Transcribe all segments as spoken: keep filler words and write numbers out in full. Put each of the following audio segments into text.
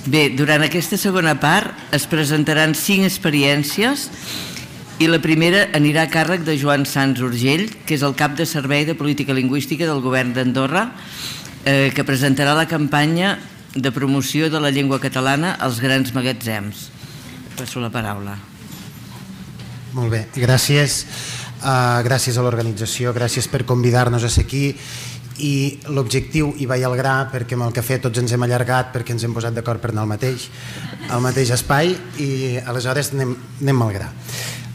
Bé, durant aquesta segona part es presentaran cinc experiències i la primera anirà a càrrec de Joan Sans Urgell, que és el cap de Servei de Política Lingüística del Govern d'Andorra, eh, que presentarà la campanya de promoció de la llengua catalana als grans magatzems. Passo la paraula. Molt bé, gràcies. Uh, gràcies a l'organització, gràcies per convidar-nos a ser aquí. I l'objectiu, i vaig al gra, perquè amb el cafè tots ens hem allargat perquè ens hem posat d'acord per anar al mateix, al mateix espai, i aleshores anem, anem al gra.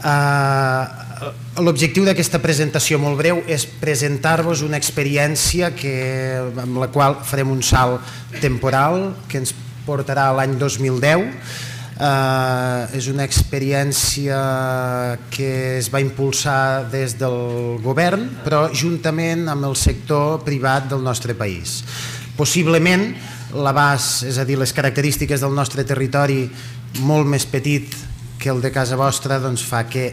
Uh, l'objectiu d'aquesta presentació molt breu és presentar-vos una experiència que, amb la qual farem un salt temporal que ens portarà a l'any dos mil deu. Uh, és una experiència que es va impulsar des del govern, però juntament amb el sector privat del nostre país. Possiblement l'abast, és a dir, les característiques del nostre territori molt més petit que el de casa vostra, doncs fa que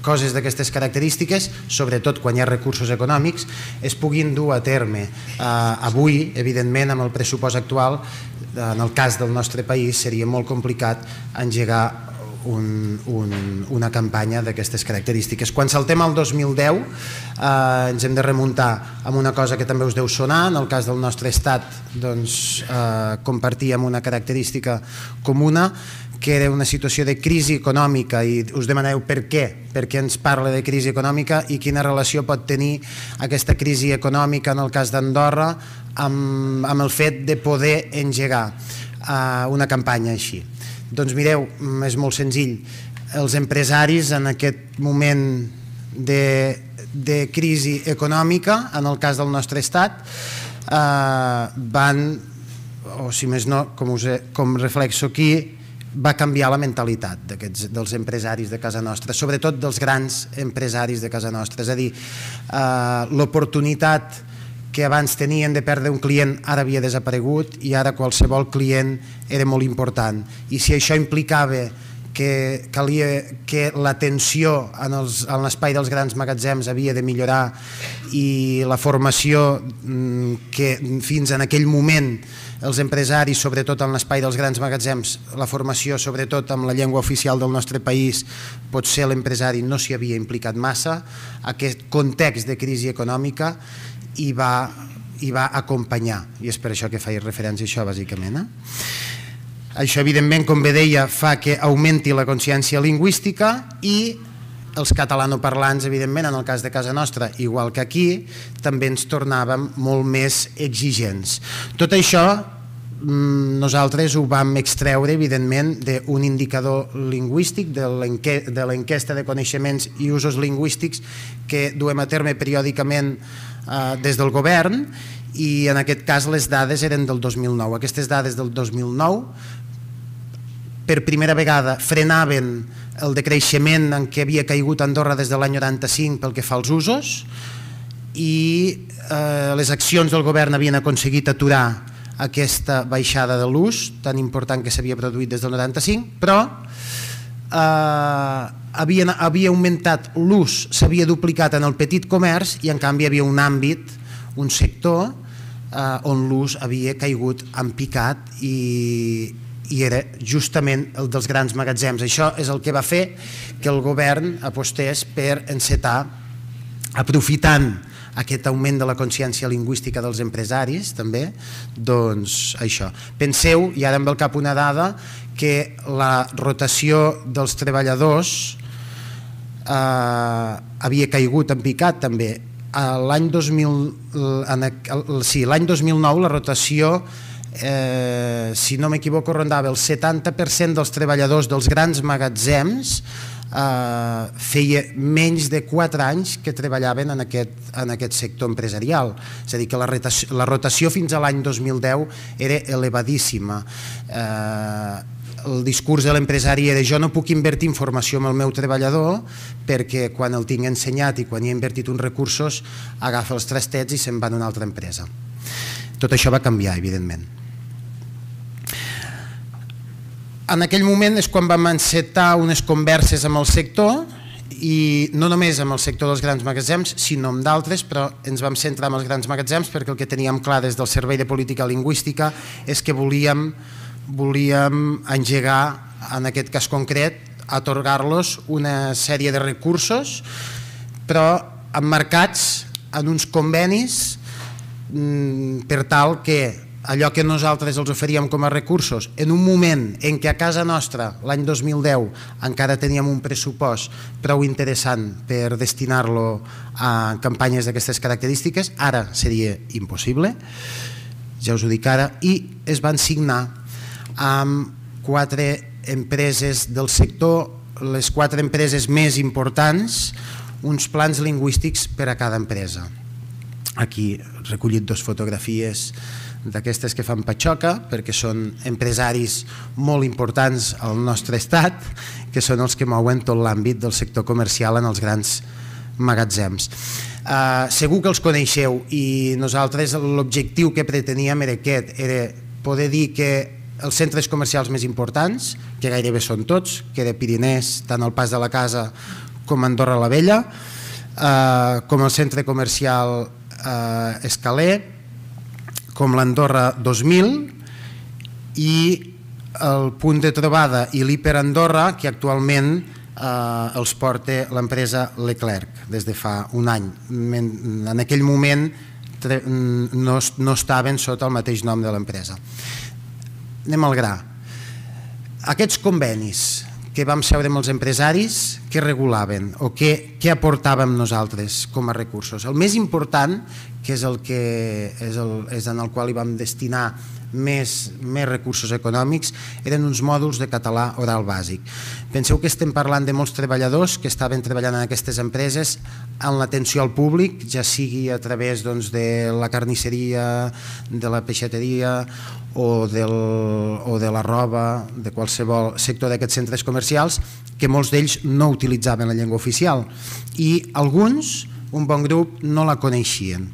coses d'aquestes característiques, sobretot quan hi ha recursos econòmics, es puguin dur a terme. Uh, avui, evidentment, amb el pressupost actual, en el cas del nostre país, seria molt complicat engegar un, un, una campanya d'aquestes característiques. Quan saltem al dos mil deu, eh, ens hem de remuntar amb una cosa que també us deu sonar. En el cas del nostre estat, doncs, eh, compartíem una característica comuna, que era una situació de crisi econòmica, i us demaneu per què, per què ens parla de crisi econòmica i quina relació pot tenir aquesta crisi econòmica en el cas d'Andorra amb, amb el fet de poder engegar uh, una campanya així. Doncs mireu, és molt senzill. Els empresaris en aquest moment de, de crisi econòmica, en el cas del nostre estat, uh, van, o si més no, com, us he, com reflexo aquí, va canviar la mentalitat dels empresaris de casa nostra, sobretot dels grans empresaris de casa nostra. És a dir, eh, l'oportunitat que abans tenien de perdre un client ara havia desaparegut i ara qualsevol client era molt important. I si això implicava que calia que l'atenció en l'espai dels grans magatzems havia de millorar i la formació que fins en aquell moment els empresaris, sobretot en l'espai dels grans magatzems, la formació sobretot amb la llengua oficial del nostre país, potser l'empresari no s'hi havia implicat massa, aquest context de crisi econòmica hi va, hi va acompanyar, i és per això que faig referència a això bàsicament. Eh? Això evidentment, com bé deia, fa que augmenti la consciència lingüística i els catalanoparlants, evidentment, en el cas de casa nostra, igual que aquí, també ens tornàvem molt més exigents. Tot això nosaltres ho vam extreure, evidentment, d'un indicador lingüístic, de l'enquesta de coneixements i usos lingüístics que duem a terme periòdicament des del govern, i en aquest cas les dades eren del dos mil nou. Aquestes dades del dos mil nou per primera vegada frenaven el decreixement en què havia caigut Andorra des de l'any noranta-cinc pel que fa als usos, i eh, les accions del govern havien aconseguit aturar aquesta baixada de l'ús tan important que s'havia produït des del noranta-cinc, però eh, havia, havia augmentat l'ús, s'havia duplicat en el petit comerç, i en canvi hi havia un àmbit, un sector eh, on l'ús havia caigut en picat, i i era justament el dels grans magatzems. Això és el que va fer que el govern apostés per encetar, aprofitant aquest augment de la consciència lingüística dels empresaris, també, doncs això. Penseu, i ara em ve al cap una dada, que la rotació dels treballadors eh, havia caigut en picat també. L'any dos mil, sí, l'any dos mil nou la rotació, Eh, si no m'equivoco, rondava el setanta per cent dels treballadors dels grans magatzems, eh, feia menys de quatre anys que treballaven en aquest, en aquest sector empresarial. És a dir, que la rotació, la rotació fins a l'any dos mil deu era elevadíssima. Eh, el discurs de l'empresari era: jo no puc invertir en formació amb el meu treballador perquè quan el tinc ensenyat i quan hi he invertit uns recursos agafa els trastets i se'n va a una altra empresa. Tot això va canviar, evidentment. En aquell moment és quan vam encetar unes converses amb el sector, i no només amb el sector dels grans magatzems, sinó amb d'altres, però ens vam centrar en els grans magatzems perquè el que teníem clar des del Servei de Política Lingüística és que volíem volíem engegar, en aquest cas concret, atorgar-los una sèrie de recursos, però emmarcats en uns convenis per tal que allò que nosaltres els oferíem com a recursos, en un moment en què a casa nostra, l'any dos mil deu, encara teníem un pressupost prou interessant per destinar-lo a campanyes d'aquestes característiques, ara seria impossible, ja us ho dic ara, i es van signar amb quatre empreses del sector, les quatre empreses més importants, uns plans lingüístics per a cada empresa. Aquí he recollit dues fotografies d'aquestes que fan patxoca, perquè són empresaris molt importants al nostre estat, que són els que mouen tot l'àmbit del sector comercial en els grans magatzems. Uh, segur que els coneixeu i nosaltres l'objectiu que preteníem era aquest, era poder dir que els centres comercials més importants, que gairebé són tots, que era Pirinès, tant al Pas de la Casa com Andorra la Vella, uh, com el centre comercial uh, Escaler, com l'Andorra dos mil i el punt de trobada i l'Hiper Andorra, que actualment eh, els porta l'empresa Leclerc des de fa un any. En aquell moment no, no estaven sota el mateix nom de l'empresa. Anem al gra. Aquests convenis que vam seure amb els empresaris, què regulaven o què, què aportàvem nosaltres com a recursos? El més important, que és el que és, el, és en el qual hi vam destinar més, més recursos econòmics, eren uns mòduls de català oral bàsic. Penseu que estem parlant de molts treballadors que estaven treballant en aquestes empreses en l'atenció al públic, ja sigui a través doncs, de la carnisseria, de la peixateria o, del, o de la roba, de qualsevol sector d'aquests centres comercials, que molts d'ells no utilitzaven la llengua oficial i alguns, un bon grup, no la coneixien.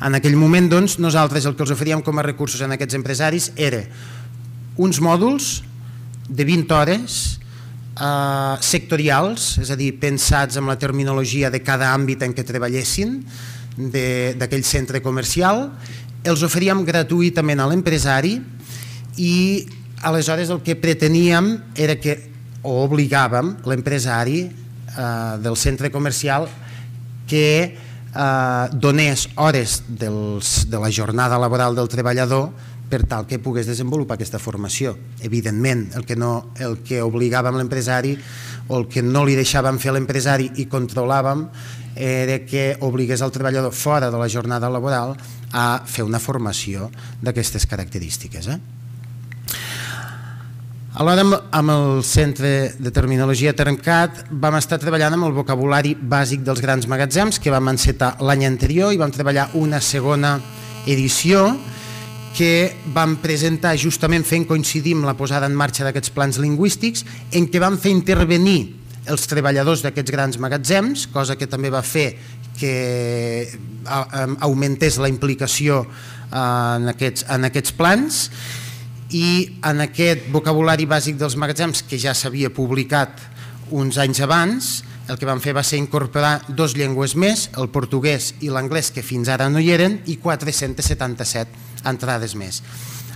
En aquell moment, doncs, nosaltres el que els oferíem com a recursos en aquests empresaris era uns mòduls de vint hores eh, sectorials, és a dir, pensats amb la terminologia de cada àmbit en què treballessin d'aquell centre comercial, els oferíem gratuïtament a l'empresari i aleshores el que preteníem era que, o obligàvem l'empresari eh, del centre comercial que eh, donés hores dels, de la jornada laboral del treballador per tal que pogués desenvolupar aquesta formació. Evidentment, el que, no, el que obligàvem l'empresari o el que no li deixàvem fer a l'empresari i controlàvem era que obligués el treballador fora de la jornada laboral a fer una formació d'aquestes característiques. Eh? Alhora, amb el Centre de Terminologia Termcat vam estar treballant amb el vocabulari bàsic dels grans magatzems que vam encetar l'any anterior i vam treballar una segona edició que vam presentar justament fent coincidir amb la posada en marxa d'aquests plans lingüístics en què vam fer intervenir els treballadors d'aquests grans magatzems, cosa que també va fer que augmentés la implicació en aquests, en aquests plans, i en aquest vocabulari bàsic dels magatzems que ja s'havia publicat uns anys abans, el que vam fer va ser incorporar dues llengües més, el portuguès i l'anglès, que fins ara no hi eren, i quatre-cents setanta-set entrades més.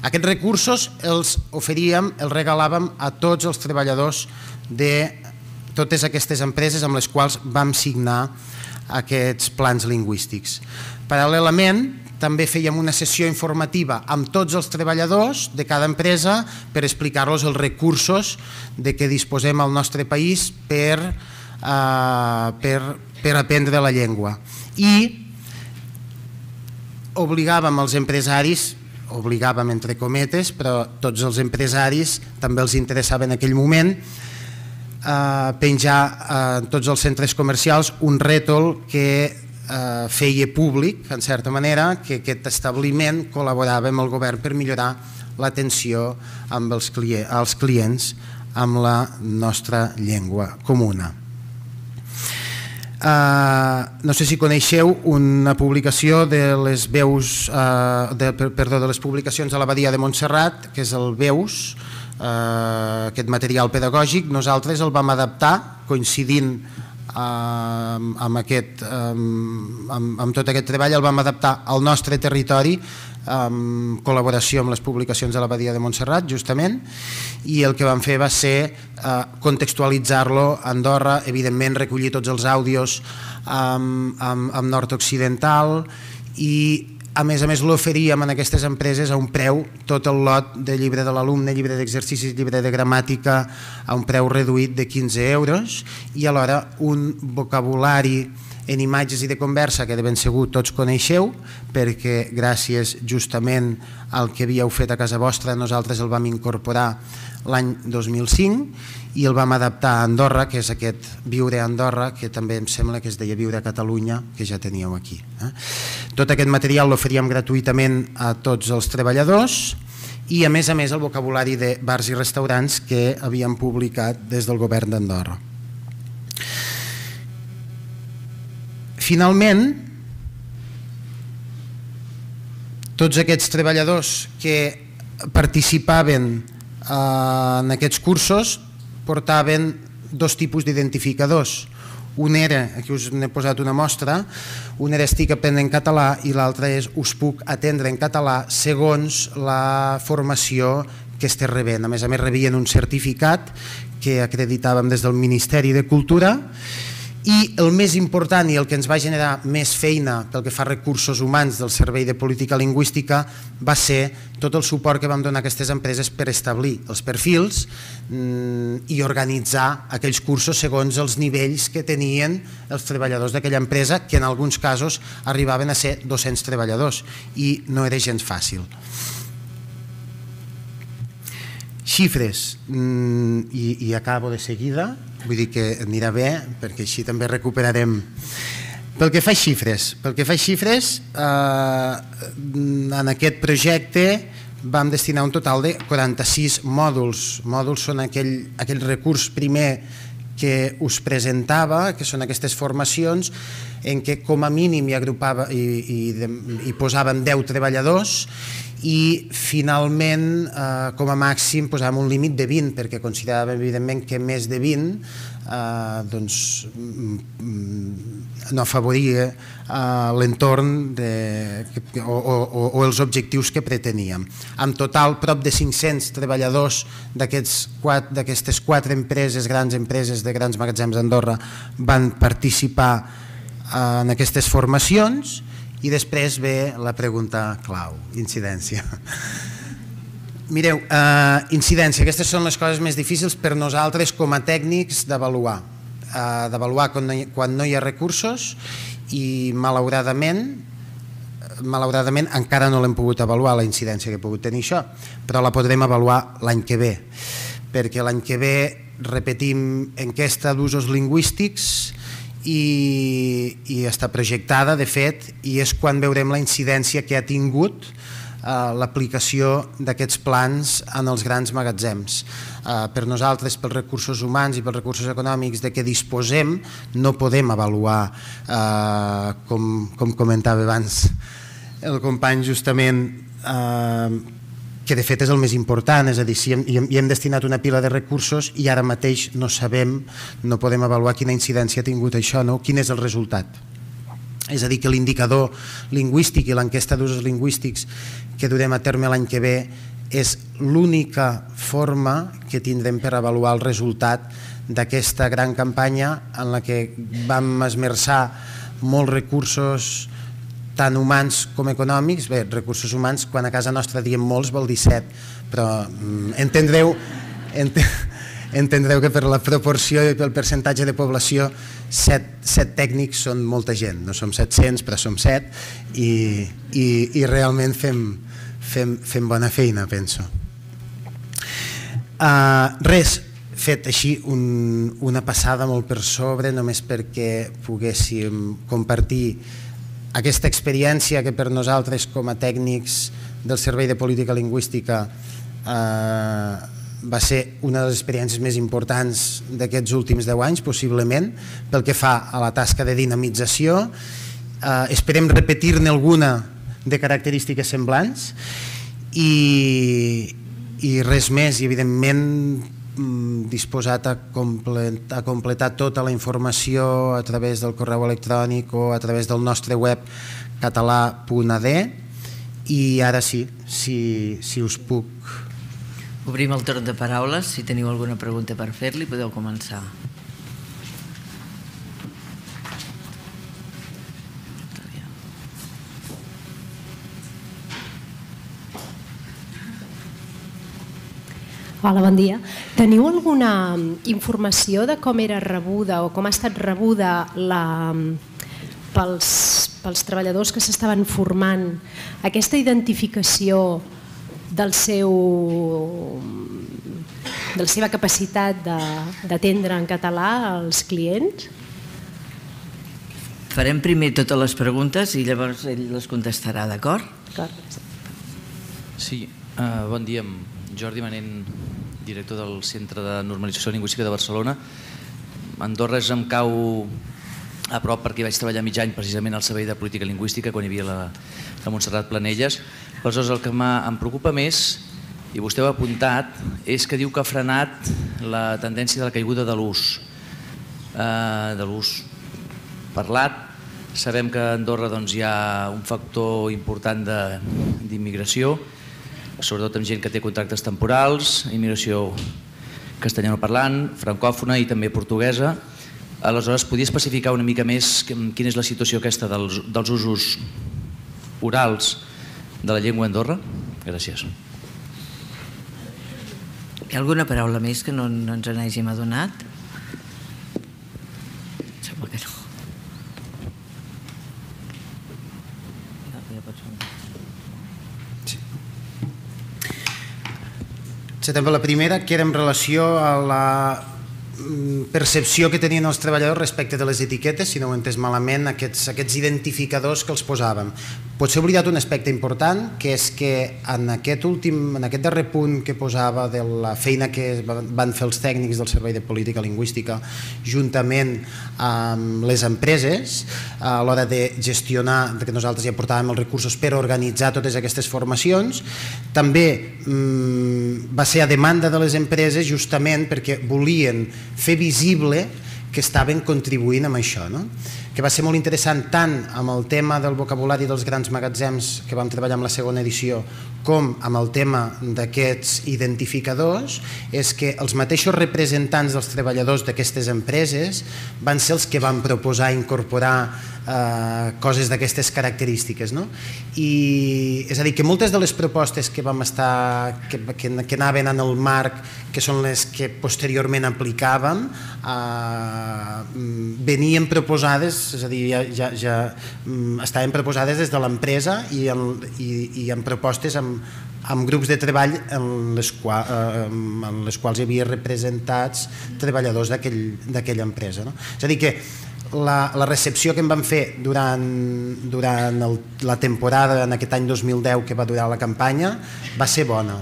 Aquests recursos els oferíem, els regalàvem a tots els treballadors de totes aquestes empreses amb les quals vam signar aquests plans lingüístics. Paral·lelament, també fèiem una sessió informativa amb tots els treballadors de cada empresa per explicar-los els recursos de què disposem al nostre país per, uh, per, per aprendre la llengua. I obligàvem els empresaris, obligàvem entre cometes, però tots els empresaris també els interessava en aquell moment uh, penjar en tots els centres comercials un rètol que Uh, feia públic, en certa manera, que aquest establiment col·laborava amb el govern per millorar l'atenció amb els, clients, als clients amb la nostra llengua comuna. Uh, no sé si coneixeu una publicació de les veus, uh, de, perdó, de les publicacions a l'Abadia de Montserrat, que és el Veus, uh, aquest material pedagògic. Nosaltres el vam adaptar coincidint Amb, amb, aquest, amb, amb tot aquest treball, el vam adaptar al nostre territori en col·laboració amb les publicacions de l'Abadia de Montserrat, justament, i el que vam fer va ser contextualitzar-lo a Andorra, evidentment recollir tots els àudios amb nord-occidental i a més a més l'oferíem en aquestes empreses a un preu, tot el lot de llibre de l'alumne, llibre d'exercicis, llibre de gramàtica, a un preu reduït de quinze euros i alhora un vocabulari en imatges i de conversa que de ben segur tots coneixeu perquè gràcies justament al que havíeu fet a casa vostra nosaltres el vam incorporar l'any dos mil cinc i el vam adaptar a Andorra, que és aquest Viure a Andorra, que també em sembla que es deia Viure a Catalunya, que ja teníeu aquí. Tot aquest material l'oferíem gratuïtament a tots els treballadors i a més a més el vocabulari de bars i restaurants que havíem publicat des del govern d'Andorra. Finalment, tots aquests treballadors que participaven en aquests cursos portaven dos tipus d'identificadors. Un era, aquí us n'he posat una mostra, un era estic aprenent català i l'altre és us puc atendre en català segons la formació que estigués rebent. A més a més rebien un certificat que acreditàvem des del Ministeri de Cultura i el més important i el que ens va generar més feina pel que fa a recursos humans del Servei de Política Lingüística va ser tot el suport que vam donar a aquestes empreses per establir els perfils i organitzar aquells cursos segons els nivells que tenien els treballadors d'aquella empresa, que en alguns casos arribaven a ser dos-cents treballadors i no era gens fàcil. Xifres, i, i acabo de seguida, vull dir que anirà bé perquè així també recuperarem. Pel que fa a xifres, pel que fa a xifres eh, en aquest projecte vam destinar un total de quaranta-sis mòduls. Mòduls són aquell, aquell recurs primer que us presentava, que són aquestes formacions en què com a mínim hi agrupava i, i, i posàvem deu treballadors i finalment eh, com a màxim posàvem un límit de vint perquè consideràvem evidentment que més de vint eh, doncs, no afavoria eh, l'entorn o, o, o els objectius que preteníem. En total, prop de cinc-cents treballadors d'aquestes quatre empreses, grans empreses de grans magatzems d'Andorra van participar en aquestes formacions. I després ve la pregunta clau, incidència. Mireu, eh, incidència, aquestes són les coses més difícils per nosaltres com a tècnics d'avaluar. Eh, d'avaluar quan, no hi, quan no hi ha recursos i malauradament, malauradament encara no l'hem pogut avaluar, la incidència que ha pogut tenir això, però la podrem avaluar l'any que ve, perquè l'any que ve repetim enquesta d'usos lingüístics I, i està projectada, de fet, i és quan veurem la incidència que ha tingut eh, l'aplicació d'aquests plans en els grans magatzems. Eh, per nosaltres, pels recursos humans i pels recursos econòmics de què disposem, no podem avaluar, eh, com, com comentava abans el company justament, eh, que de fet és el més important, és a dir, si hem, hi hem destinat una pila de recursos i ara mateix no sabem, no podem avaluar quina incidència ha tingut això, no? Quin és el resultat. És a dir, que l'indicador lingüístic i l'enquesta d'usos lingüístics que durem a terme l'any que ve és l'única forma que tindrem per avaluar el resultat d'aquesta gran campanya en la que vam esmerçar molts recursos tant humans com econòmics. Bé, recursos humans, quan a casa nostra diem molts vol dir set, però entendreu, entendreu que per la proporció i pel percentatge de població set, set tècnics són molta gent, no som set-cents però som set i, i, i realment fem, fem, fem bona feina, penso. Uh, res, fet així un, una passada molt per sobre només perquè poguéssim compartir aquesta experiència que per nosaltres com a tècnics del Servei de Política Lingüística eh, va ser una de les experiències més importants d'aquests últims deu anys, possiblement, pel que fa a la tasca de dinamització. Eh, esperem repetir-ne alguna de característiques semblants i, i res més, i evidentment disposat a completar, a completar tota la informació a través del correu electrònic o a través del nostre web català punt a d I ara sí, si, si us puc... Obrim el torn de paraules. Si teniu alguna pregunta per fer-li, podeu començar. Hola, bon dia. Teniu alguna informació de com era rebuda o com ha estat rebuda la, pels, pels treballadors que s'estaven formant aquesta identificació del seu, de la seva capacitat d'atendre en català als clients? Farem primer totes les preguntes i llavors ell les contestarà, d'acord? D'acord. Sí, uh, bon dia. Jordi Manent, director del Centre de Normalització Lingüística de Barcelona. Andorra és em cau a prop perquè vaig treballar mig any precisament al Servei de Política Lingüística quan hi havia la, la Montserrat Planelles. Aleshores, el que em preocupa més, i vostè ho ha apuntat, és que diu que ha frenat la tendència de la caiguda de l'ús, eh, de l'ús parlat. Sabem que a Andorra doncs, hi ha un factor important d'immigració, sobretot amb gent que té contractes temporals, immigració castellanoparlant, francòfona i també portuguesa. Aleshores, podria especificar una mica més quina és la situació aquesta dels, dels usos orals de la llengua a Andorra? Gràcies. Hi ha alguna paraula més que no, no ens n'hàgim adonat? Sembla que no. La primera, que era en relació a la percepció que tenien els treballadors respecte de les etiquetes, si no ho he entès malament, aquests, aquests identificadors que els posàvem. Potser he oblidat un aspecte important, que és que en aquest, últim, en aquest darrer punt que posava de la feina que van fer els tècnics del Servei de Política Lingüística juntament amb les empreses a l'hora de gestionar, que nosaltres ja portàvem els recursos per organitzar totes aquestes formacions, també mmm, va ser a demanda de les empreses justament perquè volien fer visible que estaven contribuint amb això, no? Que va ser molt interessant tant amb el tema del vocabulari dels grans magatzems que vam treballar amb la segona edició com amb el tema d'aquests identificadors, és que els mateixos representants dels treballadors d'aquestes empreses van ser els que van proposar incorporar eh, coses d'aquestes característiques, no? I és a dir, que moltes de les propostes que vam estar, que, que, que anaven en el marc, que són les que posteriorment aplicàvem, eh, venien proposades, és a dir, ja, ja, ja estaven proposades des de l'empresa i, i, i en propostes amb, amb grups de treball en les, qual, eh, en les quals hi havia representats treballadors d'aquella empresa, no? És a dir, que la, la recepció que en vam fer durant, durant el, la temporada en aquest any dos mil deu que va durar la campanya va ser bona,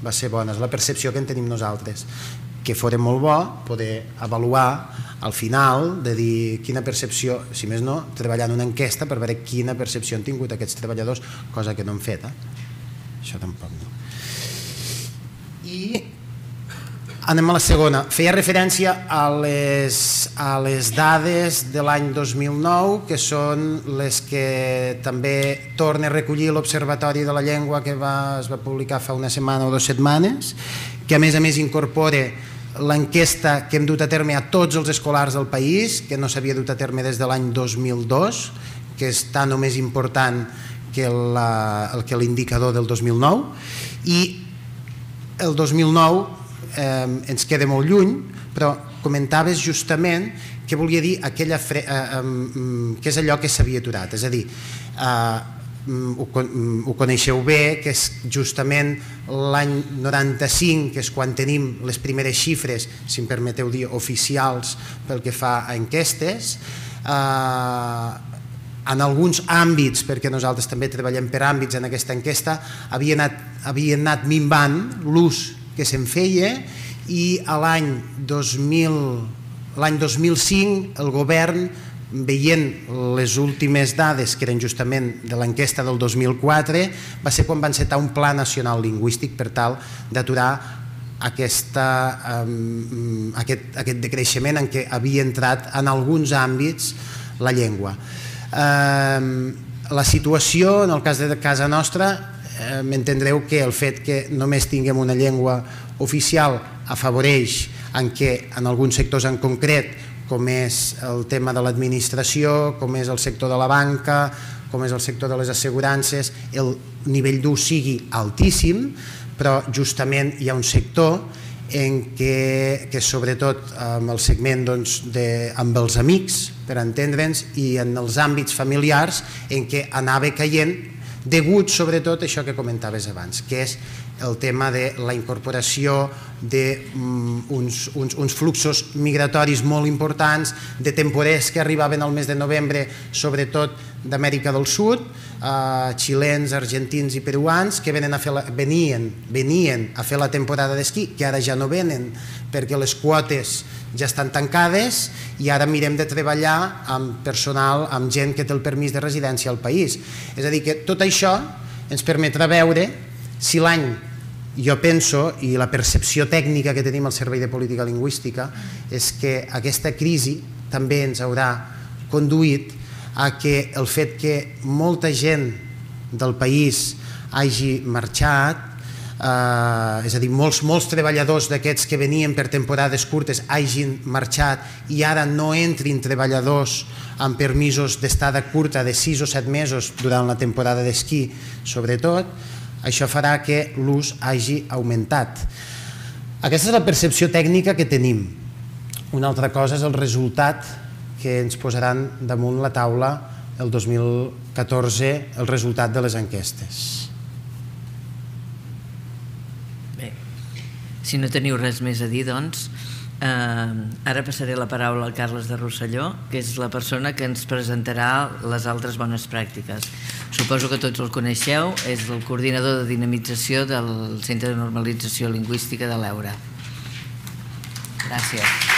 va ser bona, és la percepció que en tenim nosaltres, que fora molt bo poder avaluar al final de dir quina percepció, si més no, treballar en una enquesta per veure quina percepció han tingut aquests treballadors, cosa que no han fet, eh? Això tampoc no. I anem a la segona. Feia referència a les, a les dades de l'any dos mil nou, que són les que també torna a recollir l'Observatori de la Llengua que va, es va publicar fa una setmana o dues setmanes, que a més a més incorpora l'enquesta que hem dut a terme a tots els escolars del país, que no s'havia dut a terme des de l'any dos mil dos, que és tan o més important que l'indicador del dos mil nou, i el dos mil nou eh, ens queda molt lluny, però comentaves justament què volia dir aquella fre eh, eh, què és allò que s'havia aturat, és a dir, eh, Ho, ho coneixeu bé, que és justament l'any noranta-cinc, que és quan tenim les primeres xifres, si em permeteu dir, oficials pel que fa a enquestes. Eh, en alguns àmbits, perquè nosaltres també treballem per àmbits en aquesta enquesta, havia anat, havia anat minvant l'ús que se'n feia, i a l'any dos mil, l'any dos mil cinc el govern, veient les últimes dades que eren justament de l'enquesta del dos mil quatre, va ser quan va encetar un pla nacional lingüístic per tal d'aturar aquesta, um, aquest, aquest decreixement en què havia entrat en alguns àmbits la llengua. Um, la situació, en el cas de casa nostra, eh, m'entendreu que el fet que només tinguem una llengua oficial afavoreix en què en alguns sectors en concret, com és el tema de l'administració, com és el sector de la banca, com és el sector de les assegurances, el nivell d'ús sigui altíssim, però justament hi ha un sector en què, que sobretot amb el segment doncs, de, amb els amics, per entendre'ns, i en els àmbits familiars en què anava caient, degut sobretot a això que comentaves abans, que és el tema de la incorporació d'uns uns, uns fluxos migratoris molt importants, de temporers que arribaven al mes de novembre, sobretot d'Amèrica del Sud, eh, xilens, argentins i peruans, que venen a fer la, venien, venien a fer la temporada d'esquí, que ara ja no venen perquè les quotes ja estan tancades i ara mirem de treballar amb personal, amb gent que té el permís de residència al país. És a dir, que tot això ens permetrà veure si l'any, jo penso, i la percepció tècnica que tenim al Servei de Política Lingüística és que aquesta crisi també ens haurà conduït a que el fet que molta gent del país hagi marxat, eh, és a dir, molts, molts treballadors d'aquests que venien per temporades curtes hagin marxat i ara no entrin treballadors amb permisos d'estada curta de sis o set mesos durant la temporada d'esquí, sobretot, això farà que l'ús hagi augmentat. Aquesta és la percepció tècnica que tenim. Una altra cosa és el resultat que ens posaran damunt la taula el dos mil catorze, el resultat de les enquestes. Bé, si no teniu res més a dir, doncs, eh, ara passaré la paraula al Carles de Rosselló, que és la persona que ens presentarà les altres bones pràctiques. Suposo que tots el coneixeu, és el coordinador de dinamització del Centre de Normalització Lingüística de l'Eura. Gràcies.